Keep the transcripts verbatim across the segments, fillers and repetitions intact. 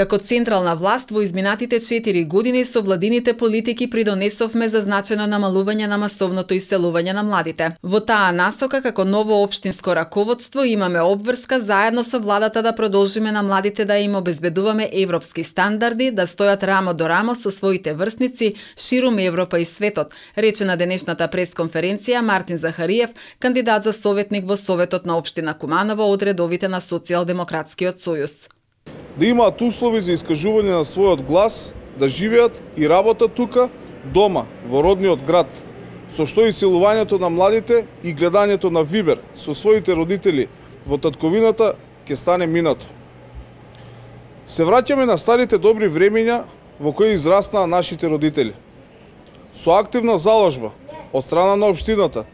Како централна власт во изминатите четири години со владините политики придонесовме за значајно намалување на масовното иселување на младите. Во таа насока, како ново општинско раководство, имаме обврска заедно со владата да продолжиме на младите да им обезбедуваме европски стандарди, да стојат рамо до рамо со своите врсници ширум Европа и светот, рече на денешната пресконференција Мартин Захариев, кандидат за советник во Советот на општина Куманово од редовите на Социјалдемократскиот сојуз. Да имаат услови за искажување на својот глас, да живеат и работат тука, дома, во родниот град, со што иселувањето на младите и гледањето на Вибер со своите родители во татковината ќе стане минато. Се враќаме на старите добри времења во кои израснаа нашите родители. Со активна заложба од страна на општината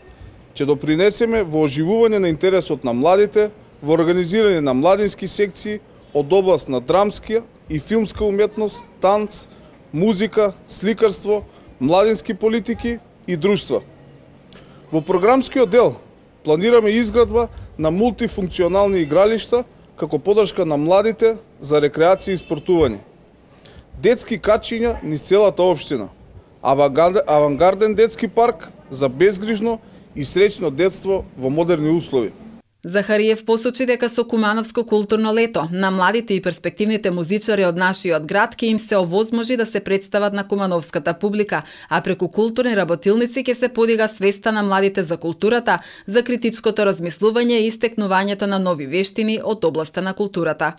ќе допринесеме во оживување на интересот на младите, во организирање на младински секции од област на драмска и филмска уметност, танц, музика, сликарство, младински политики и друштва. Во програмскиот дел планираме изградба на мултифункционални игралишта како поддршка на младите за рекреација и спортување. Детски качиња низ целата општина, авангарден детски парк за безгрижно и среќно детство во модерни услови. Захариев посочи дека со Кумановско културно лето на младите и перспективните музичари од нашиот град ќе им се овозможи да се представат на кумановската публика, а преку културни работилници ќе се подига свеста на младите за културата, за критичкото размислување и истекнувањето на нови вештини од областа на културата.